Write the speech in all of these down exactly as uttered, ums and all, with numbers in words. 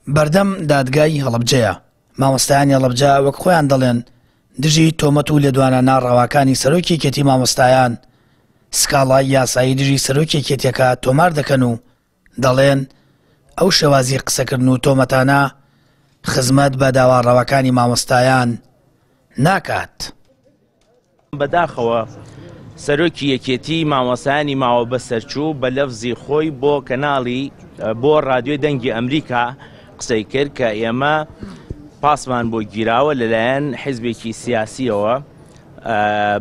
بەردەم دادگای هەڵەبجەیە. مامۆستایانی هەڵەبجە وەک خۆیان دەڵێن دژی تۆمەت و لێدوانە ناڕەواکانی سەرۆکی یەکێتی مامۆستایان سکاڵای یاسایی دژی سەرۆکی یەکێتیەکە تۆمار دەکەن و دەڵێن ئەو شێوازی قسەکردن و تۆمەتانە خزمەت بە داوا ڕەواکانی مامۆستایان ناکات. بەداخەوە سەرۆکی یەکێتی مامۆستایانی ماوە بەسەرچوو بە لەفزی خۆی بۆ کەناڵی بۆ رادیۆی دەنگی ئەمریکا قسەی کرد کە ئێمە پاسمان بۆ گیراوە لەلایەن حیزبێکی سیاسیەوە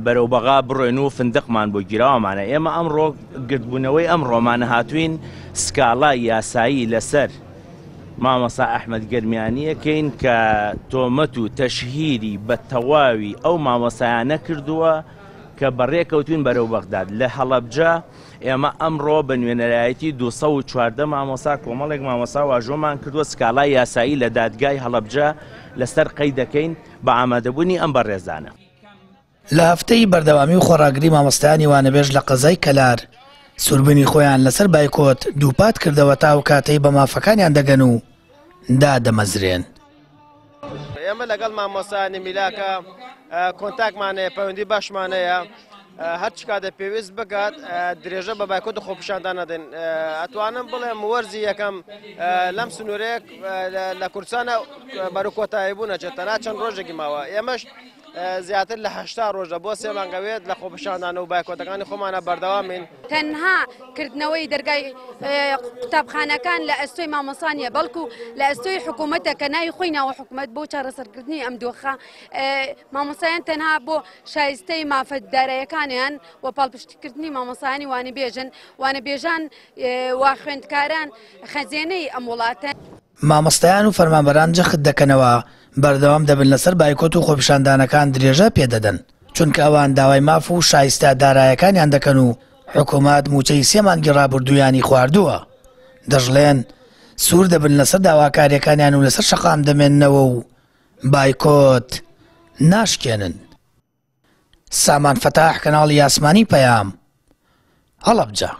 بەرەو بەغا بڕۆین و فندقمان بۆ گیراوەمانە. ئێمە ئەمڕۆ گردبوونەوەی ئەم ڕۆمانە هاتوین سکاڵای یاسایی لەسەر مامۆستا ئەحمەد گەرمیانیەکەین کە تۆمەت و تەشهیری بە تەواوی ئەو مامۆستایانە کردووە کە بەڕێکەوتوین بەرەو بەغداد. لە هەڵەبجە ئێمە ئەمڕۆ بە نوێنەرایەتی دوو سەد و چواردە مامۆستا کۆمەڵێک مامۆستا واژۆمان کردووە سکاڵای یاسایی لە دادگای هەڵەبجە لەسەر قەی دەکەین بە ئامادەبوونی ئەم بەڕێزانە. لە هەفتەی بەردەوامی و خۆڕاگری مامۆستایانی وانەبێژ لە قەزای کەلار سووربوونی خۆیان لەسەر بایکۆت دووپات کردەوە تا ئەو کاتەی بە مافەکانیان دەگەن و دادەمەزرێن. ئێمە لەگەڵ مامۆستایانی میلاکە کۆنتاکمان هەیە، پەیوەندی باشمان هەیە، هەرچ کاتێ پێویست بکات درێژە بە بایکۆت و خۆپیشاندان نەدەین. ئەتوانم بڵێم وەرزی یەکەم لەم سنوورەیەک لە کوردستانە بەرەو کۆتایی بوون ئەچێت، تەنها چەند ڕۆژێکی ماوە. ئێمەش زیاتر لە هەشتا ڕۆژە بۆ سێ مانگەوێت لە خۆپیشاندان و بایکۆتەکانی خۆمانە بەردەوامین. تەنها کردنەوەی دەرگای قوتابخانەکان لە ئەستۆی مامۆستا نییە، بەڵکو لە ئەستۆی حکوومەتە کە ناوی خۆی ناوە حکوومەت بۆ چارەسەرکردنی ئەم دۆخە. مامۆستایان تەنها بۆ شایستەی مافە دارایەکانیان و پاڵپشتیکردنی مامۆستایانی وانەبێژن، وانەبێژان و خوێندکاران خەزێنەی ئەم وڵاتە. مامۆستایان و فەرمانبەران جەخت دەکەنەوە بەردەوام دەبن لەسەر بایکۆت و خۆپیشاندانەکان درێژە پێدەدەن، چونکە ئەوان داوای ماف و شایستە دارایەکانیان دەکەن و حکوومەت موچەی سێ مانگی ڕابردوویانی خواردووە. دەژڵێن سوور دەبن لەسەر داواکاریەکانیان و لەسەر شەقام دەمێننەوە و بایکۆت ناشکێنن. سامان فەتاح، کەناڵی ئاسمانی پەیام، هەڵەبجە.